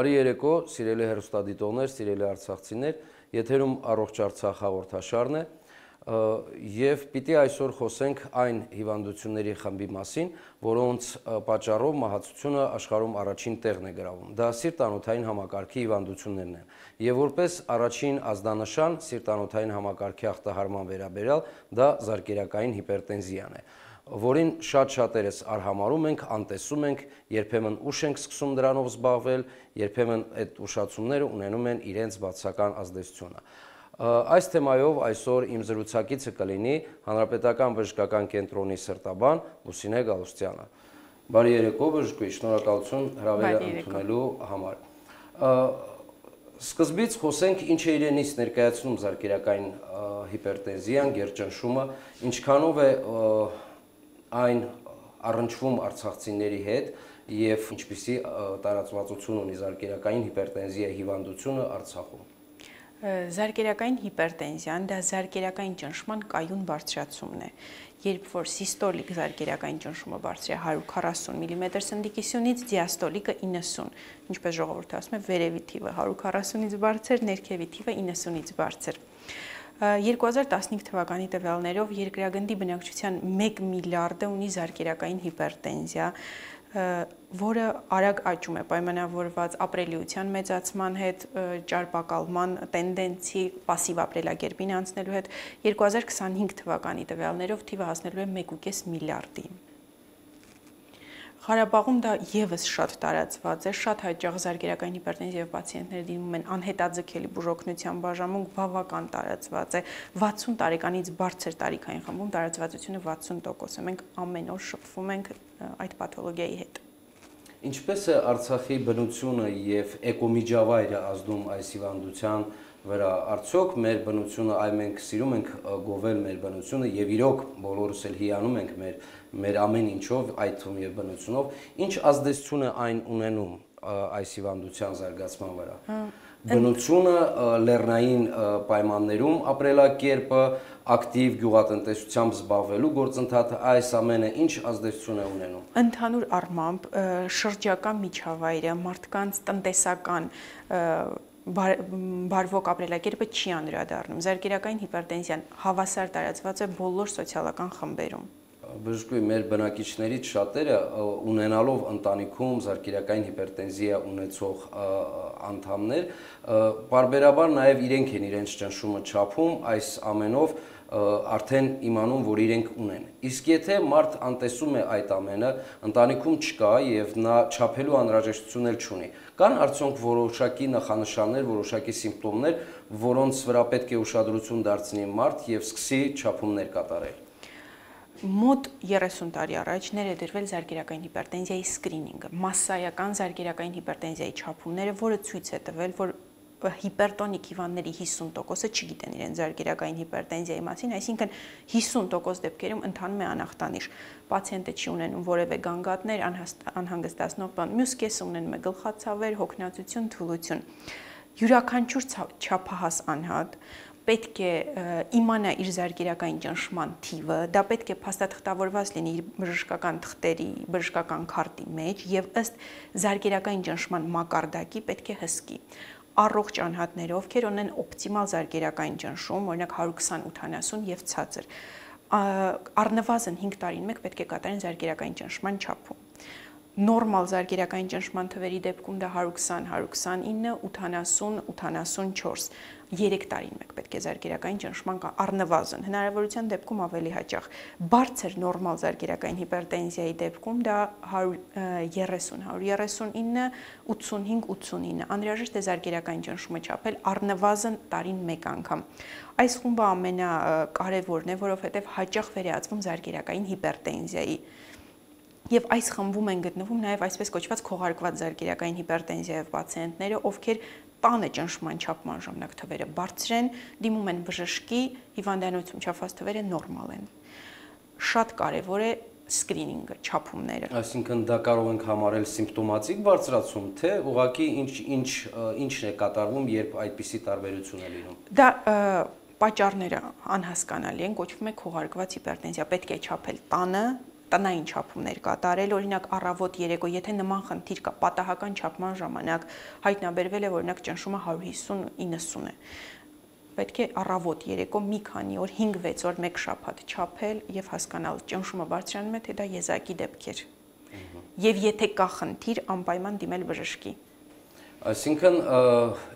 Բարի երեկո, սիրելի հեռուստադիտողներ, սիրելի արցախցիներ, եթերում Առողջ Արցախ հաղորդաշարն է եւ պիտի այսօր խոսենք այն հիվանդությունների խմբի մասին, որոնց պատճառով մահացությունը աշխարհում առաջին տեղն է գրավում։ Դա սիրտանոթային համակարգի հիվանդություններն են։ Եվ որպես առաջին ազդանշան սիրտանոթային համակարգի ախտահարման վերաբերյալ դա զարկերակային հիպերտենզիան է, որին շատ-շատերս արհամարում ենք, անտեսում ենք, երբեմն ուշ ենք սկսում դրանով զբաղվել, երբեմն այդ ուշացումները ունենում են իրենց բացասական ազդեցությունը։ Այս թեմայով այսօր իմ զրուցակիցը կլինի Հանրապետական բժշկական կենտրոնի սրտաբան Լուսինե Գալուստյանը։ Բարի երեկո, բժշկուհի, շնորհակալություն հրավերը ընդունելու համար։ Սկզբից խոսենք ինչ է իրենից ներկայացնում զարկերակային հիպերտենզիան, գերճնշումը, ինչքանով է այն առնչվում արցախցիների հետ եւ ինչպիսի տարածվածություն ունի զարկերակային հիպերտենզիայի հիվանդությունը Արցախում։ Զարկերակային հիպերտենզիան դա զարկերակային ճնշման կայուն բարձրացումն է։ Երբ որ սիստոլիկ զարկերակային ճնշումը բարձր է 140 մմ սնդիկիսյունից, դիաստոլիկը 90, ինչպես ժողովուրդը ասում է, վերևի թիվը 140-ից բարձր, ներքևի թիվը 90-ից բարձր։ 2015 թվականի տվյալներով երկրագնդի բնակչության 1 միլիարդը ունի զարկերակային հիպերտենզիա, որը արագ աճում է պայմանավորված ապրելիության մեծացման հետ, ճարպակալման տենդենցի, պասիվ ապրելակերպին անցնելու հետ, 2025 թվականի տվյալներով թիվը հասնելու է 1,5 միլիարդի։ Ղարաբաղում դա եւս շատ տարածված է, շատ հաճախ զարկերակային հիպերտենզիայով պացիենտները դիմում են անհետաձգելի բուժօգնության բաժանմունք, բավական տարածված է, 60 տարեկանից բարձր տարիքային խմբում տարածվածությունը 60% է, մենք ամեն օր շփվում ենք այդ պաթոլոգիայի հետ։ Ինչպես է Արցախի բնությունը եւ էկոմիջավայրը ազդում այս հիվանդության վրա, արդյոք մեր բնությունը, այ մենք սիրում ենք գովել մեր բնությունը եւ իրոք բոլորս էլ հիանում ենք մեր ամեն ինչով, այդ թվում եւ բնությունով, ինչ ազդեցություն է այն ունենում այս հիվանդության զարգացման վրա։ Բնությունը, լեռնային պայմաններում ապրելակերպը, ակտիվ գյուղատնտեսությամբ զբաղվելու գործընթացը, այս ամենը ինչ ազդեցություն է ունենում։ Ընդհանուր առմամբ շրջակա միջավայրը, մարդկանց տնտեսական բարվոք ապրելակերպը չի անդրադառնում։ Զարկերակային հիպերտենզիան հավասար տարածված է բոլոր սոցիալական խմբերում։ Բժշկուհի, մեր բնակիչներից շատերը ունենալով ընտանիքում զարկերակային հիպերտենզիա ունեցող անդամներ, պարբերաբար նաև իրենք են իրենց ճնշումը չափում, այս ամենով արդեն իմանում, որ իրենք ունեն։ Իսկ եթե մարդ անտեսում է այդ ամենը, ընտանիքում չկա եւ նա չափելու անհրաժեշտություն էլ չունի, կան արդյոք որոշակի նախանշաններ, որոշակի սիմպտոմներ, որոնց վրա պետք է ուշադրություն դարձնի մարդ եւ սկսի չափումներ կատարել։ Մոտ 30 տարի առաջ ներդրվել զարկերակային հիպերտենզիայի սկրինինգը, մասսայական զարկերակային հիպերտենզիայի չափումները, որը ցույց է տվել, որ հիպերտոնիկ հիվանդների 50%-ը չգիտեն իրենց զարկերակային հիպերտենզիայի մասին, այսինքն 50% դեպքերում ընթանում է անախտանիշ։ Պացիենտը չի ունենում որևէ գանգատներ, անհանգստացնող բան, մյուս կեսը ունենում է գլխացավեր, հոգնածություն, թուլություն։ Յուրաքանչյուր չափահաս անհատ պետք է իմանա իր զարկերակային ճնշման թիվը, դա պետք է փաստաթղթավորված լինի իր բժշկական թղթերի, բժշկական քարտի մեջ եւ ըստ զարկերակային ճնշման մակարդակի պետք է հսկի։ Առողջ անհատները, ովքեր ունեն օպտիմալ զարկերակային ճնշում, օրինակ 120-80 եւ ցածր, առնվազն 5 տարին մեկ պետք է կատարեն զարկերակային ճնշման չափում։ Նորմալ զարկերակային ճնշման թվերի դեպքում դա 120-129, 80-84, 3 տարին մեկ պետք է զարկերակային ճնշման առնվազն, հնարավորության դեպքում ավելի հաճախ։ Բարձր նորմալ զարկերակային հիպերտենզիայի դեպքում դա 130-139, 85-89, անհրաժեշտ է զարկերակային ճնշումը չափել առնվազն տարին մեկ անգամ։ Այս խումբը ամենակարևորն է, որովհետև հաճախ վերածվում զարկերակային հիպերտենզիայի։ Եվ այս խմբում են գտնվում նաև այսպես կոչված քողարկված զարկերակային հիպերտենզիայով պացիենտները, ովքեր տանը ճնշման չափման ժամանակ թվերը բարձր են, դիմում են բժշկի, հիվանդանոցում չափված թվերը նորմալ են։ Շատ կարևոր է սկրինինգը, չափումները։ Այսինքն դա կարող ենք համարել սիմպտոմատիկ բարձրացում, թե ուղղակի ինչն է կատարվում, երբ այդպիսի տարբերություն է լինում։ Դա պատճառները անհասկանալի են, կոչվում է քողարկված հիպերտենզիա, պետք է չափել տանը, տնային չափումներ կատարել, օրինակ առավոտ երեկո, եթե նման խնդիր կա, պատահական չափման ժամանակ հայտնաբերվել է, օրինակ ճնշումը 150-90 է։ Պետք է առավոտ երեկո մի քանի օր, 5-6 օր մեկ շաբաթ չափել եւ հասկանալ ճնշումը բարձրանում է, թե դա եզակի դեպք էր։ Եվ եթե կա խնդիր, անպայման դիմել բժշկի։ Այսինքն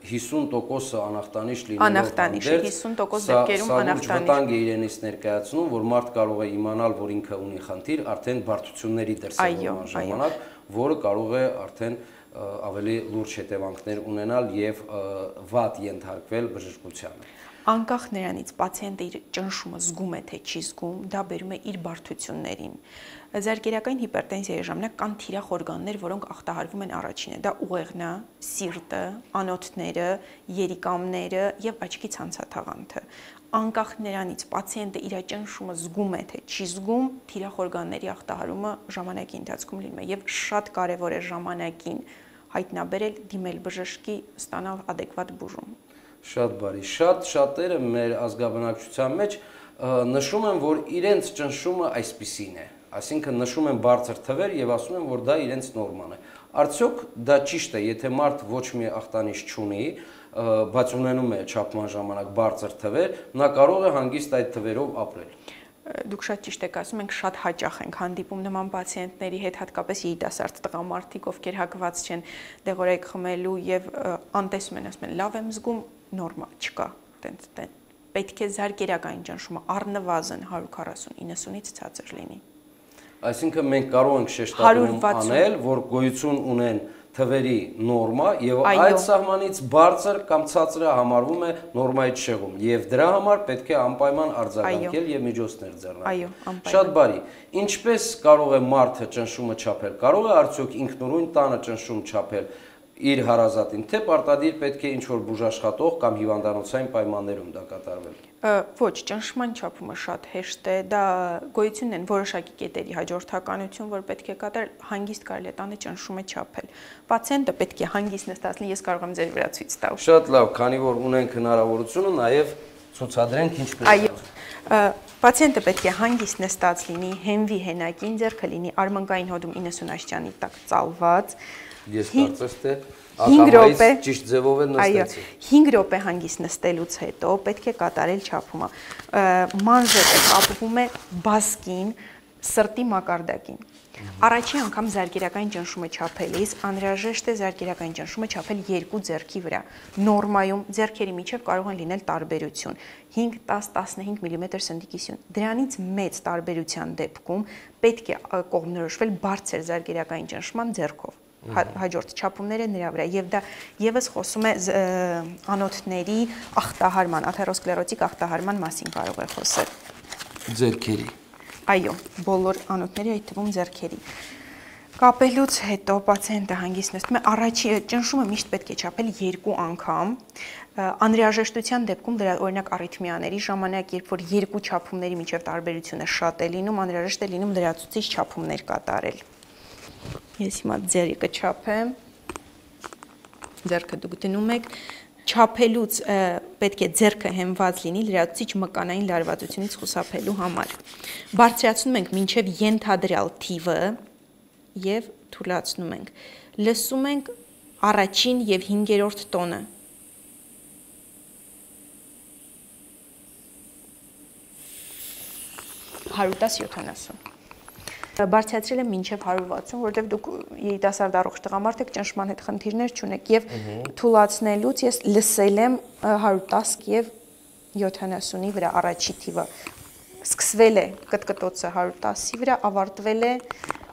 50% անախտանիշ լինելով Անախտանիշ, 50% դեպքերում անախտանիշ։ Սա վտանգ է իրենից ներկայացնում, որ մարդ կարող է իմանալ, որ ինքը ունի խնդիր, արդեն բարդությունների դրսևորման ժամանակ, որը կարող է արդեն ավելի լուրջ հետևանքներ ունենալ եւ վատ ենթարկվել բժշկությանը։ Անկախ նրանից պացիենտը իր ճնշումը զգում է թե չի զգում, դա բերում է իր բարդություններին։ Զարկերակային հիպերտենզիայի ժամանակ կան թիրախ օրգաններ, որոնք ախտահարվում են առաջինը։ Դա ուղեղն է, սիրտը, անոթները, երիկամները եւ աչքի ցանցաթաղանթը։ Անկախ նրանից պացիենտը իր ճնշումը զգում է թե չի զգում, թիրախ օրգանների ախտահարումը ժամանակի ընթացքում լինում է եւ շատ կարեւոր է ժամանակին հայտնաբերել, դիմել բժշկի, ստանալ adekvat բուժում։ Շատ բարի, շատերը մեր ազգաբնակչության մեջ նշում են, որ իրենց ճնշումը այսպիսին է, այսինքն նշում են բարձր թվեր եւ ասում են, որ դա իրենց նորման է։ Արդյոք դա ճիշտ է, եթե մարդ ոչ մի ախտանիշ չունի, բայց ունենում է չափման ժամանակ բարձր թվեր, նա կարող է հանգիստ այդ թվերով ապրել։ Դուք շատ ճիշտ եք ասում, մենք շատ հաճախ ենք հանդիպում նման պացիենտների հետ, հատկապես երիտասարդ տղամարդիկ, ովքեր հակված չեն դեղորայք խմելու եւ անտեսում են, ասում են, լավ եմ զգում, նորմալ չկա, պետք է զարկերակային ճնշումը առնվազն 140-90-ից ցածր լինի։ Այսինքն մենք կարող ենք շեշտադրում անել, որ գոյություն ունեն թվերի նորմա եւ այդ սահմանից բարձր կամ ցածրը համարվում է նորմայից շեղում եւ դրա համար պետք է անպայման արձագանքել եւ միջոցներ ձեռնարկել։ Շատ բարի։ Ինչպես կարող է մարդը ճնշումը չափել։ Կարող է արդյոք ինքնուրույն տանը ճնշում չափել իր հարազատին, թե պարտադիր պետք է ինչ-որ բուժաշխատող կամ հիվանդանոցային պայմաններում դա կատարվել։ Ոչ, ճնշման չափումը շատ հեշտ է, դա գոյություն են որոշակի կետերի հաջորդականություն, որ պետք է կատարել, հանգիստ կարելի է տանը ճնշումը չափել։ Պացիենտը պետք է հանգիստ նստած լինի, ես կարող եմ ձեր վրա ցույց տալ։ Շատ լավ, քանի որ ունենք հնարավորությունը, նաև ցուցադրենք ինչպես։ Այո, պացիենտը պետք է հանգիստ նստած լինի, հենվի հենակին, ձեռքը լինի արմնկային հոդում 90 աստիճանի տակ ծալված։ Ես կարծես թե ակամայից ճիշտ ձևով էլ նստեցի։ Այո, 5 րոպե հանգիստ նստելուց հետո պետք է կատարել չափումը։ Մանժետը կապվում է բասկին, սրտի մակարդակին։ Առաջին անգամ զարկերակային ճնշումը չափելիս անհրաժեշտ է զարկերակային ճնշումը չափել երկու ձեռքի վրա։ Նորմայում ձեռքերի միջև կարող են լինել տարբերություն 5-10-15 մմ սնդիկիսյուն։ Դրանից մեծ տարբերության դեպքում պետք է կողմնորոշվել բարձր զարկերակային ճնշման ձեռքով։ Հաջորդ չափումները նրա վրա եւ դա եւս խոսում է անոթների ախտահարման, աթերոսկլերոտիկ ախտահարման մասին կարող է խոսել։ Ձեռքերի։ Այո, բոլոր անոթների, այդ թվում ձեռքերի։ Կապելուց հետո պացիենտը հանգիստ նստում է, առաջին ճնշումը միշտ պետք է չափել 2 անգամ։ Անհրաժեշտության դեպքում դրա օրինակ արիթմիաների ժամանակ, երբ որ երկու չափումների միջև տարբերությունը շատ է լինում, անհրաժեշտ է լինում լրացուցիչ չափումներ կատարել։ Ես հիմա ձեռքը չափեմ, ձեռքը դուք դնում եք, չափելուց պետք է ձեռքը հենված լինի լրացուցիչ մկանային լարվածությունից խուսափելու համար։ Բարձրացնում ենք մինչև ենթադրյալ թիվը եւ թուլացնում ենք։ Լսում ենք առաջին եւ 5-րդ տոնը։ (110-70) Բարձրացրել եմ մինչև 160, որովհետև դուք երիտասարդ առողջ տղամարդ եք, ճնշման հետ խնդիրներ չունեք եւ թուլացնելուց ես լսել եմ 110 եւ 70-ի վրա առաջի թիվը։ Սկսվել է կտկտոցը 110-ի վրա, ավարտվել է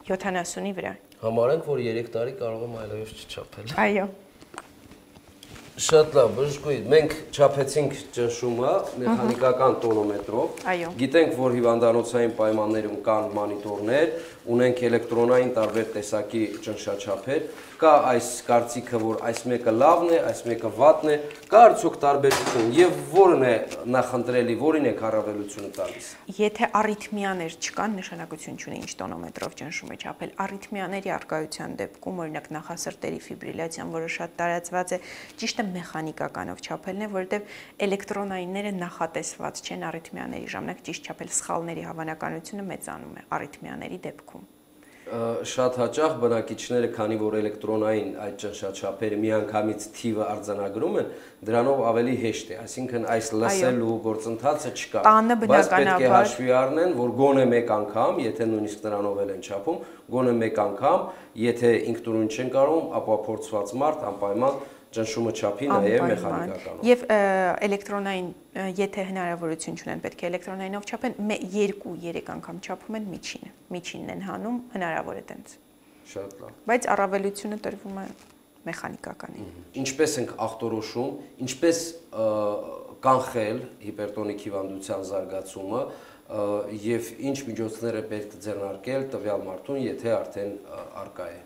70-ի վրա։ Համարենք, որ 3 տարի կարող եմ այլևս չչափել։ Այո։ Շատ լավ, բժշկուհի, մենք չափեցինք ճնշումը մեխանիկական տոնոմետրով։ Այո։ Գիտենք, որ հիվանդանոցային պայմաններում կան մանիտորներ, ունենք էլեկտրոնային տարբեր տեսակի ճնշաչափեր, կա այս կարծիքը, որ այս մեկը լավն է, այս մեկը վատն է, կա արդյոք տարբերություն եւ որն է նախընտրելի, որին է առավելությունը տալիս։ Եթե արիթմիաներ չկան, նշանակություն չունի ինչ տոնոմետրով ճնշումը չափել։ Արիթմիաների առկայության դեպքում, օրինակ նախասրտերի ֆիբրիլյացիան, որը շատ տարածված է, ճիշտը մեխանիկականով չափելն է, որովհետեւ էլեկտրոնայինները նախատեսված չեն արիթմիաների ժամանակ ճիշտ չափել, սխալների հավանականությունը մեծանում է արիթմիաների դեպքում։ Շատ հաճախ բնակիչները, քանի որ էլեկտրոնային այդ ճնշաչափերը միանգամից թիվը արձանագրում են, դրանով ավելի հեշտ է, այսինքն այս լսելու գործընթացը չկա։ Բայց պետք է հաշվի առնեն, որ գոնե մեկ անգամ, եթե նույնիսկ նրանով են չափում, գոնե մեկ անգամ, եթե ինքնուրույն չեն կարող, ապա փորձված մարդ անպայման ճնշումը չափի նաև մեխանիկականով։ Եվ էլեկտրոնային, եթե հնարավորություն չունեն, պետք է էլեկտրոնայինով չափեն, 2-3 անգամ չափում են միջինն են հանում, հնարավոր է տենց։ Շատ լավ։ Բայց առավելությունը տրվում է մեխանիկականին։ Ինչպես ենք ախտորոշում, ինչպես կանխել հիպերտոնիկ հիվանդության զարգացումը եւ ինչ միջոցներ է պետք ձեռնարկել տվյալ մարդուն, եթե արդեն արկա է։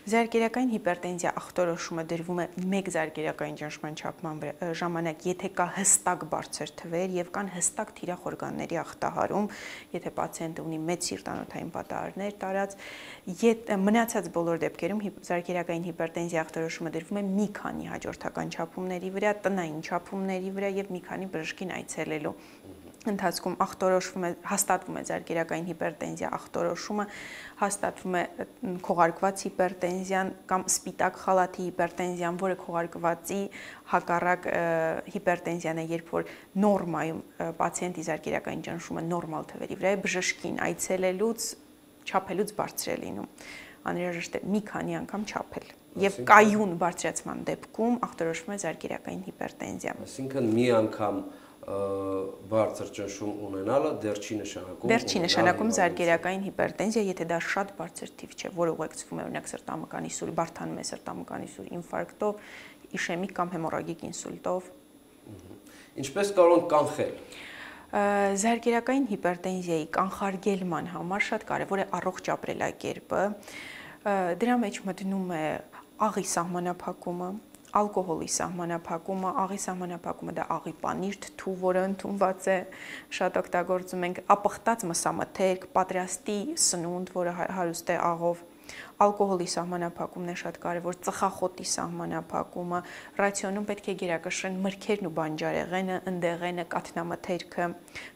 Զարկերակային հիպերտենզիա ախտորոշումը դրվում է մեկ զարկերակային ճնշման չափման ժամանակ, եթե կա հստակ բարձր թվեր եւ կան հստակ թիրախ օրգանների ախտահարում, եթե պացիենտը ունի մեծ սիրտանոթային պատահարներ տարած, մնացած բոլոր դեպքերում զարկերակային հիպերտենզիա ախտորոշումը դրվում է մի քանի հաջորդական չափումների վրա, տնային չափումների վրա եւ մի քանի բժշկին այցելելու ընթացքում հաստատվում է զարկերակային հիպերտենզիա ախտորոշումը, հաստատվում է քողարկված հիպերտենզիան կամ սպիտակ խալաթի հիպերտենզիան, որը քողարկվածի հակառակ հիպերտենզիան է, երբ որ նորմայում պացիենտի զարկերակային ճնշումը նորմալ թվերի վրա է, բժշկին այցելելուց չափելուց բարձր է լինում։ Անհրաժեշտ է մի քանի անգամ չափել։ Եվ կայուն բարձրացման դեպքում ախտորոշվում է զարկերակային հիպերտենզիա։ Այսինքն մի անգամ բարձր ճնշում ունենալը դեռ չի նշանակում։ Դեռ չի նշանակում զարկերակային հիպերտենզիա, եթե դա շատ բարձր թիվ չէ, որը ուղեկցվում է օրինակ սրտամկանի սուր, բարդանում է սրտամկանի սուր ինֆարկտով, իշեմիկ կամ հեմորագիկ ինսուլտով։ Ինչպես կարող ենք կանխել։ Զարկերակային հիպերտենզիայի կանխարգելման համար շատ կարևոր է առողջ ապրելակերպը։ Դրա մեջ մտնում է աղի սահմանափակումը, ալկոհոլի սահմանափակումը, աղի սահմանափակումը դա աղի պանիր, թթու, որը ընդունված է, շատ օգտագործում ենք, ապխտած մսամթերք, պատրաստի սնունդ, որը հարուստ է աղով, ալկոհոլի սահմանափակումն է շատ կարևոր, ծխախոտի սահմանափակումը, ռացիոնում պետք է գերակշռեն մրգերն ու բանջարեղենը, ընդեղենը, կաթնամթերքը,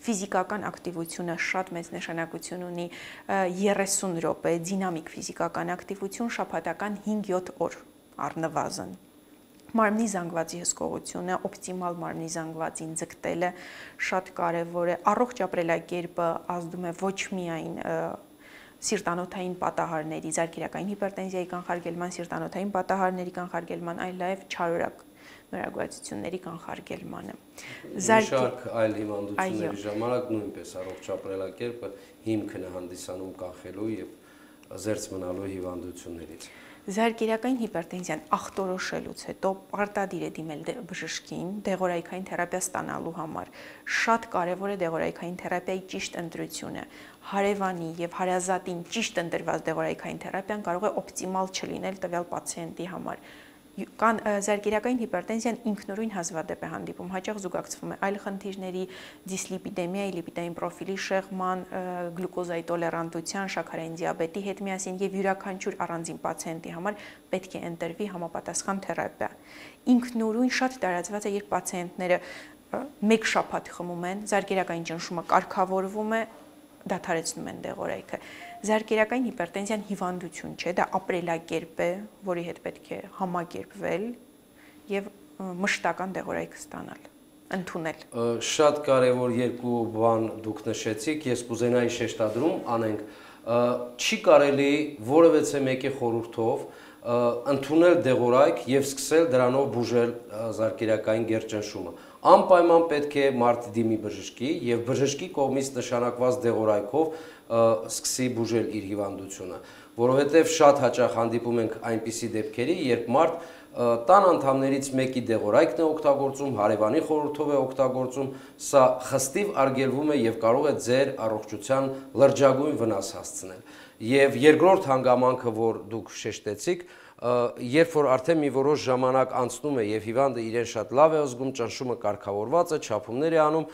ֆիզիկական ակտիվությունը շատ մեծ նշանակություն ունի, 30 րոպե դինամիկ ֆիզիկական ակտիվություն շաբաթական 5-7 օր առնվազն։ Մարմնի զանգվածի հսկողությունը, օպտիմալ մարմնի զանգվածին ձգտելը շատ կարևոր է։ Առողջ ապրելակերպը ազդում է ոչ միայն սիրտանոթային պատահարների, զարկերակային հիպերտենզիայի կանխարգելման, սիրտանոթային պատահարների կանխարգելման, այլ նաև չարորակ նորագույացությունների կանխարգելմանը։ Շարք այլ հիվանդությունների ժամանակ նույնպես առողջ ապրելակերպը հիմքն է հանդիսանում կանխելու եւ զերծ մնալու հիվանդություններից։ Զարկերակային հիպերտենզիան ախտորոշելուց հետո պարտադիր է դիմել բժշկին դեղորայքային թերապիա ստանալու համար։ Շատ կարևոր է դեղորայքային թերապիայի ճիշտ ընտրությունը։ Հարևանի եւ հարազատին ճիշտ ընտրված դեղորայքային թերապիան կարող է օպտիմալ չլինել տվյալ պացիենտի համար։ Կան զարկերակային հիպերտենզիան ինքնուրույն հազվադեպ է հանդիպում, հաճախ զուգակցվում է այլ խնդիրների, դիսլիպիդեմիայի, լիպիդային պրոֆիլի շեղման, գլյուկոզայի տոլերանտության, շաքարային դիաբետի հետ միասին եւ յուրաքանչյուր առանձին պացիենտի համար պետք է ընտրվի համապատասխան թերապիա։ Ինքնուրույն շատ տարածված է, երբ պացիենտները մեկ շաբաթ խմում են, զարկերակային ճնշումը կարգավորվում է, դադարեցնում են դեղորայքը։ Զարկերակային հիպերտենզիան հիվանդություն չէ, դա ապրելակերպ է, որի հետ պետք է համակերպվել եւ մշտական դեղորայք ստանալ, ընդունել։ Շատ կարևոր երկու բան դուք նշեցիք, ես կուզենայի շեշտադրում անենք, չի կարելի որևէ մեկի խորհրդով ընդունել դեղորայք եւ սկսել դրանով բուժել զարկերակային գերճնշումը։ Անպայման պետք է մարդ դիմի բժշկի եւ բժշկի կողմից նշանակված դեղորայքով սկսի բուժել իր հիվանդությունը, որովհետեւ շատ հաճախ հանդիպում ենք այնպիսի դեպքերի, երբ մարդ տան անդամներից մեկի դեղորայքն է օգտագործում, հարևանի խորհրդով է օգտագործում, սա խստիվ արգելվում է եւ կարող է ձեր առողջության լրջագույն վնաս հասցնել։ Եվ երկրորդ հանգամանքը, որ դուք շեշտեցիք, երբ որ արդեն մի որոշ ժամանակ անցնում է եւ հիվանդը իրեն շատ լավ է զգում, ճնշումը կարգավորված է, չափումներ է անում,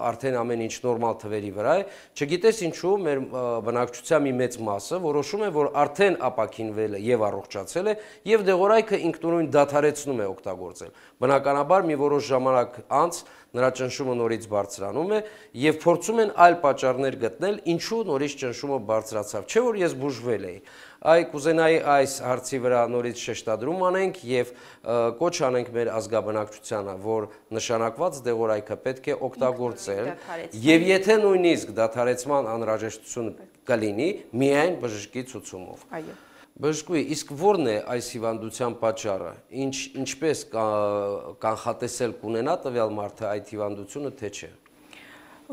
արդեն ամեն ինչ նորմալ թվերի վրա է, չգիտես ինչու մեր բնակչության մի մեծ մասը որոշում է, որ արդեն ապաքինվել է եւ առողջացել է եւ դեղորայքը ինքնուրույն դադարեցնում է օգտագործել։ Բնականաբար մի որոշ ժամանակ անց նրա ճնշումը նորից բարձրանում է եւ փորձում են այլ պատճառներ գտնել, ինչու նորից ճնշումը բարձրացավ, չէ՞ որ ես բուժվել էի։ Կուզենայի այս հարցի վրա նորից շեշտադրում անենք եւ կոչ անենք մեր ազգաբնակչությանը, որ նշանակված դեղորայքը պետք է օգտագործել եւ եթե նույնիսկ դադարեցման անհրաժեշտություն կլինի, միայն բժշկի ցուցումով։ Այո։ Բժշկուհի, իսկ ո՞րն է այս հիվանդության պատճառը, ինչպես կանխատեսել կունենա տվյալ մարդը այդ հիվանդությունը, թե չէ։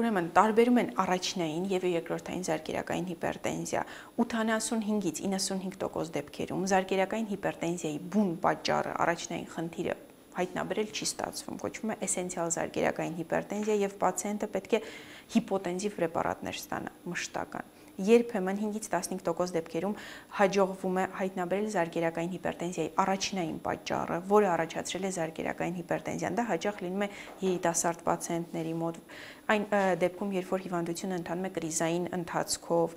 Ուրեմն տարբերում են առաջնային եւ երկրորդային զարկերակային հիպերտենզիա։ 85-ից 95% դեպքերում զարկերակային հիպերտենզիայի բուն պատճառը, առաջնային խնդիրը հայտնաբերել չի ստացվում, կոչվում է էսենցիալ զարկերակային հիպերտենզիա եւ պացիենտը պետք է հիպոտենզիվ պրեպարատներ ստանա, մշտական։ Երբեմն 5-ից 15% դեպքերում հաջողվում է հայտնաբերել զարկերակային հիպերտենզիայի առաջնային պատճառը, որը առաջացրել է զարկերակային հիպերտենզիան։ Դա հաճախ լինում է երիտասարդ պացիենտների մոտ, այն դեպքում, երբ որ հիվանդությունը ընթանում է կրիզային ընթացքով,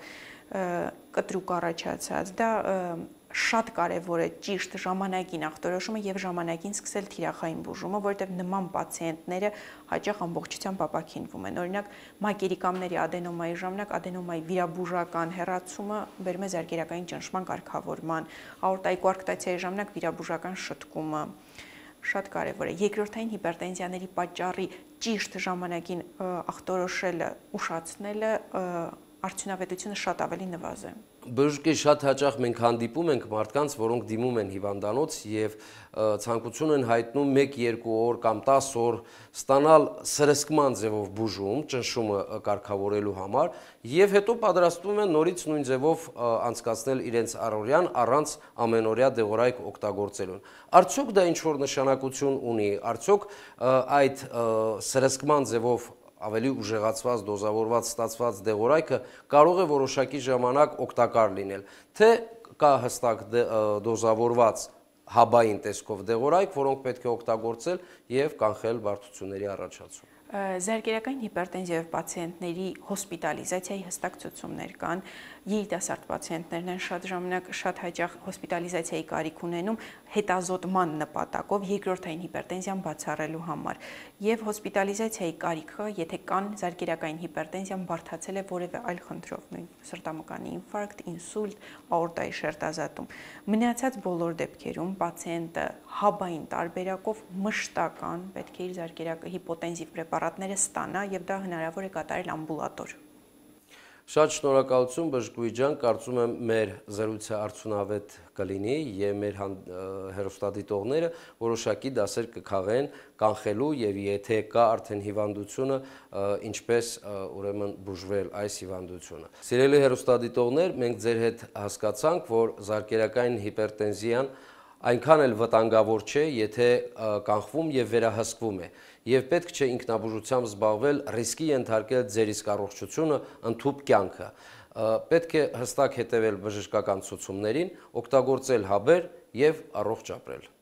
կտրուկ առաջացած, դա շատ կարևոր է ճիշտ ժամանակին ախտորոշումը եւ ժամանակին սկսել թիրախային բուժումը, որովհետեւ նման պացիենտները հաճախ ամբողջությամբ ապաքինվում են։ Օրինակ, մակերիկամների ադենոմայի ժամանակ ադենոմայի վիրաբուժական հեռացումը բերում է զարկերակային ճնշման կարգավորման, աորտայի կոարկտացիայի ժամանակ վիրաբուժական շտկումը շատ կարևոր է։ Երկրորդային հիպերտենզիաների պատճառի ճիշտ ժամանակին ախտորոշելը, ուշացնելը արդյունավետությունը շատ ավելի նվազ է։ Բժշկի շատ հաճախ մենք հանդիպում ենք մարդկանց, որոնք դիմում են հիվանդանոց եւ ցանկություն են հայտնում 1-2 օր կամ 10 օր ստանալ սրսկման ձևով բուժում, ճնշումը կարգավորելու համար եւ հետո պատրաստվում են նորից նույն ձևով անցկացնել իրենց առօրյան առանց ամենօրյա դեղորայք օգտագործելուն։ Արդյոք դա ինչ որ նշանակություն ունի, արդյոք այդ սրսկման ձևով ավելի ուժեղացված, դոզավորված ստացված դեղորայքը կարող է որոշակի ժամանակ օգտակար լինել, թե կա հստակ դոզավորված հաբային տեսքով դեղորայք, որոնք պետք է օգտագործել եւ կանխել բարդությունների առաջացում։ Զարկերակային հիպերտենզիայով պացիենտների հոսպիտալիզացիայի հստակ ցուցումներ կան, երիտասարդ պացիենտներն են շատ ժամանակ շատ հաճախ հոսպիտալիզացիայի կարիք ունենում հետազոտման նպատակով երկրորդային հիպերտենզիան բացառելու համար եւ հոսպիտալիզացիայի կարիքը, եթե կան զարկերակային հիպերտենզիան բարդացել է որևէ այլ խնդրով, նույն սրտամկանի ինֆարկտ, ինսուլտ, աորտայի շերտազատում, մնացած բոլոր դեպքերում պացիենտը հաբային տարբերակով մշտական պետք է իր զարկերակային հիպոտենզիվ պրեպարատները ստանա եւ դա հնարավոր է կատարել ամբուլատոր։ Շատ շնորհակալություն բժշկուհի ջան, կարծում եմ մեր զրույցը արդյունավետ կլինի եւ մեր հեռուստադիտողները որոշակի դասեր կքաղեն կանխելու եւ եթե կա արդեն հիվանդությունը, ինչպես ուրեմն բուժվել այս հիվանդությունը։ Սիրելի հեռուստադիտողներ, մենք ձեր հետ հասկացանք, որ զարկերակային հիպերտենզիան այնքան էլ վտանգավոր չէ, եթե կանխվում եւ վերահսկվում է, եւ պետք չէ ինքնաբուժությամբ զբաղվել, ռիսկի ենթարկել ձեր իսկ առողջությունը, ընդհուպ կյանքը։ Պետք է հստակ հետևել բժշկական ցուցումներին, օգտագործել հաբեր եւ առողջ ապրել։